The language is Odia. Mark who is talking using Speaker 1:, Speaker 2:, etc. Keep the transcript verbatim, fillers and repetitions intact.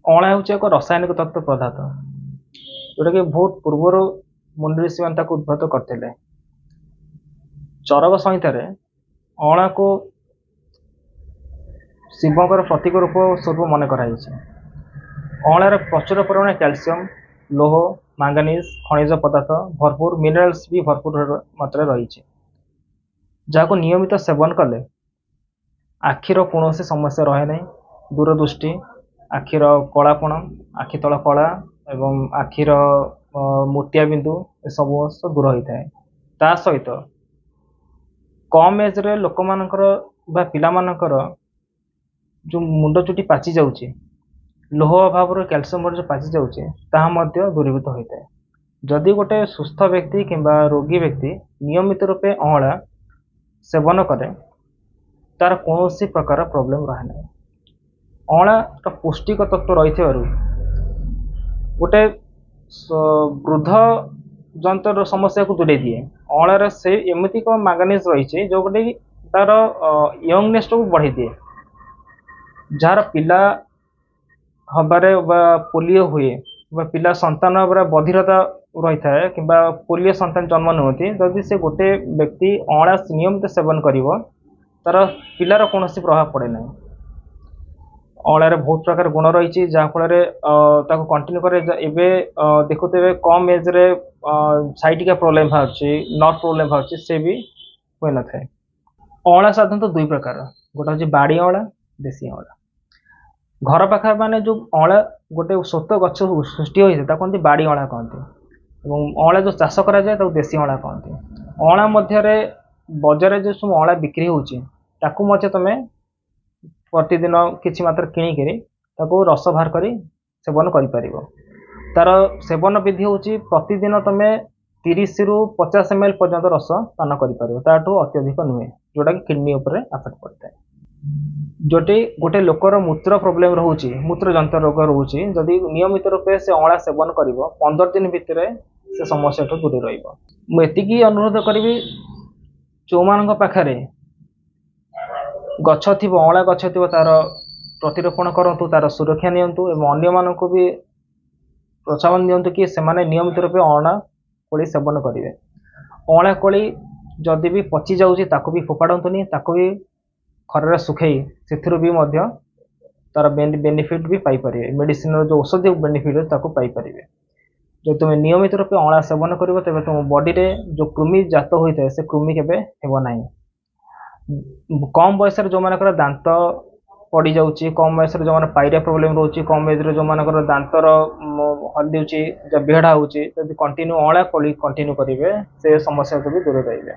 Speaker 1: ଅଁଳା ହେଉଛି ଏକ ରାସାୟନିକ ତତ୍ତ୍ୱ ପଦାର୍ଥ, ଯେଉଁଟାକି ବହୁତ ପୂର୍ବରୁ ମୁନି ଋଷିମାନେ ତାକୁ ଉଦ୍ଭାବନ କରିଥିଲେ। ଚରକ ସଂହିତାରେ ଅଁଳାକୁ ଶିବଙ୍କର ପ୍ରତୀକ ରୂପ ସ୍ୱରୂପ ମନେ କରାଯାଇଛି। ଅଁଳାରେ ପ୍ରଚୁର ପରିମାଣରେ କ୍ୟାଲସିୟମ, ଲୌହ, ମାଙ୍ଗାନିଜ, ଖଣିଜ ପଦାର୍ଥ ଭରପୁର, ମିନେରାଲ୍ସ ବି ଭରପୁର ମାତ୍ରାରେ ରହିଛି, ଯାହାକୁ ନିୟମିତ ସେବନ କଲେ ଆଖିର କୌଣସି ସମସ୍ୟା ରହେ ନାହିଁ। ଦୂରଦୃଷ୍ଟି, ଆଖିର କଳାପଣ, ଆଖି ତଳ କଳା ଏବଂ ଆଖିର ମୋତିଆ ବିନ୍ଦୁ ଏସବୁ ଦୂର ହୋଇଥାଏ। ତା ସହିତ କମ୍ ଏଜ୍ରେ ଲୋକମାନଙ୍କର ବା ପିଲାମାନଙ୍କର ଯେଉଁ ମୁଣ୍ଡ ଚୁଟି ପାଚି ଯାଉଛି, ଲୌହ ଅଭାବରୁ କ୍ୟାଲସିୟମ ଯେଉଁ ପାଚି ଯାଉଛି, ତାହା ମଧ୍ୟ ଦୂରୀଭୂତ ହୋଇଥାଏ। ଯଦି ଗୋଟେ ସୁସ୍ଥ ବ୍ୟକ୍ତି କିମ୍ବା ରୋଗୀ ବ୍ୟକ୍ତି ନିୟମିତ ରୂପେ ଅଁଳା ସେବନ କରେ, ତାର କୌଣସି ପ୍ରକାର ପ୍ରୋବ୍ଲେମ୍ ରହେ ନାହିଁ। ଅଁଳାର ପୌଷ୍ଟିକ ତତ୍ତ୍ୱ ରହିଥିବାରୁ ଗୋଟେ ବୃଦ୍ଧ ଯନ୍ତ୍ରର ସମସ୍ୟାକୁ ଦୂରେଇ ଦିଏ। ଅଁଳାରେ ସେ ଏମିତି ଏକ ମାଙ୍ଗାନିଜ ରହିଛି, ଯେଉଁଟାକି ତାର ୟଙ୍ଗନେସଟାକୁ ବଢ଼େଇ ଦିଏ। ଯାହାର ପିଲା ହବାରେ ବା ପୋଲିଓ ହୁଏ ବା ପିଲା ସନ୍ତାନ ହେବାରେ ବଧିରତା ରହିଥାଏ କିମ୍ବା ପୋଲିଓ ସନ୍ତାନ ଜନ୍ମ ନିଅନ୍ତି, ଯଦି ସେ ଗୋଟେ ବ୍ୟକ୍ତି ଅଁଳା ନିୟମିତ ସେବନ କରିବ, ତାର ପିଲାର କୌଣସି ପ୍ରଭାବ ପଡ଼େ ନାହିଁ। ଅଁଳାରେ ବହୁତ ପ୍ରକାର ଗୁଣ ରହିଛି, ଯାହାଫଳରେ ତାକୁ କଣ୍ଟିନ୍ୟୁ କରେ। ଏବେ ଦେଖୁଥିବେ କମ୍ ଏଜ୍ରେ ସାଇଟିକା ପ୍ରୋବ୍ଲେମ୍ ବାହାରୁଛି, ନର୍ଭ ପ୍ରୋବ୍ଲେମ୍ ବାହାରୁଛି, ସେ ବି ହୋଇନଥାଏ। ଅଁଳା ସାଧାରଣତଃ ଦୁଇ ପ୍ରକାର, ଗୋଟେ ହେଉଛି ବାଡ଼ି ଅଁଳା, ଦେଶୀ ଅଁଳା। ଘର ପାଖରେ ମାନେ ଯେଉଁ ଅଁଳା ଗୋଟେ ସ୍ୱତଃ ଗଛ ସୃଷ୍ଟି ହୋଇଥାଏ, ତାକୁ କୁହନ୍ତି ବାଡ଼ି ଅଁଳା କହନ୍ତି, ଏବଂ ଅଁଳା ଯେଉଁ ଚାଷ କରାଯାଏ ତାକୁ ଦେଶୀ ଅଁଳା କହନ୍ତି। ଅଁଳା ମଧ୍ୟରେ ବଜାରରେ ଯେଉଁ ସବୁ ଅଁଳା ବିକ୍ରି ହେଉଛି, ତାକୁ ମଧ୍ୟ ତୁମେ ପ୍ରତିଦିନ କିଛି ମାତ୍ରା କିଣିକିରି ତାକୁ ରସ ବାହାର କରି ସେବନ କରିପାରିବ। ତାର ସେବନ ବିଧି ହେଉଛି ପ୍ରତିଦିନ ତୁମେ ତିରିଶରୁ ପଚାଶ ଏମ୍ ଏଲ୍ ପର୍ଯ୍ୟନ୍ତ ରସ ପାନ କରିପାରିବ, ତାଠୁ ଅତ୍ୟଧିକ ନୁହେଁ, ଯେଉଁଟାକି କିଡ଼ନୀ ଉପରେ ଆଫେକ୍ଟ ପଡ଼ିଥାଏ। ଯଦି ଗୋଟେ ଲୋକର ମୂତ୍ର ପ୍ରୋବ୍ଲେମ୍ ରହୁଛି, ମୂତ୍ରଯନ୍ତ୍ର ରୋଗ ରହୁଛି, ଯଦି ନିୟମିତ ରୂପେ ସେ ଅଁଳା ସେବନ କରିବ, ପନ୍ଦର ଦିନ ଭିତରେ ସେ ସମସ୍ୟାଠୁ ଦୂରେଇ ରହିବ। ମୁଁ ଏତିକି ଅନୁରୋଧ କରିବି, ଯେଉଁମାନଙ୍କ ପାଖରେ ଗଛ ଥିବ, ଅଁଳା ଗଛ ଥିବ, ତାର ପ୍ରତିରୋପଣ କରନ୍ତୁ, ତାର ସୁରକ୍ଷା ନିଅନ୍ତୁ ଏବଂ ଅନ୍ୟମାନଙ୍କୁ ବି ପ୍ରୋତ୍ସାହନ ଦିଅନ୍ତୁ କି ସେମାନେ ନିୟମିତ ରୂପେ ଅଁଳା କୋଳି ସେବନ କରିବେ। ଅଁଳା କୋଳି ଯଦି ବି ପଚି ଯାଉଛି, ତାକୁ ବି ଫୋପାଡ଼ନ୍ତୁନି, ତାକୁ ବି ଖରାରେ ଶୁଖେଇ ସେଥିରୁ ବି ମଧ୍ୟ ତାର ବେନିଫିଟ୍ ବି ପାଇପାରିବେ। ମେଡ଼ିସିନର ଯେଉଁ ଔଷଧୀୟ ବେନିଫିଟ୍ ଅଛି ତାକୁ ପାଇପାରିବେ। ଯଦି ତୁମେ ନିୟମିତ ରୂପେ ଅଁଳା ସେବନ କରିବ, ତେବେ ତୁମ ବଡ଼ିରେ ଯେଉଁ କୃମି ଜାତ ହୋଇଥାଏ ସେ କୃମି କେବେ ହେବ ନାହିଁ। କମ୍ ବୟସରେ ଯେଉଁମାନଙ୍କର ଦାନ୍ତ ପଡ଼ିଯାଉଛି, କମ୍ ବୟସରେ ଯେଉଁମାନେ ପାଇରିଆ ପ୍ରୋବ୍ଲେମ୍ ରହୁଛି, କମ୍ ଏଜ୍ରେ ଯେଉଁମାନଙ୍କର ଦାନ୍ତର ହଲୁଛି, ବେହେଡ଼ା ହେଉଛି, ଯଦି କଣ୍ଟିନ୍ୟୁ ଅଁଳା କୋଳି କଣ୍ଟିନ୍ୟୁ କରିବେ, ସେ ସମସ୍ୟାଠୁ ବି ଦୂରରେ ରହିବେ।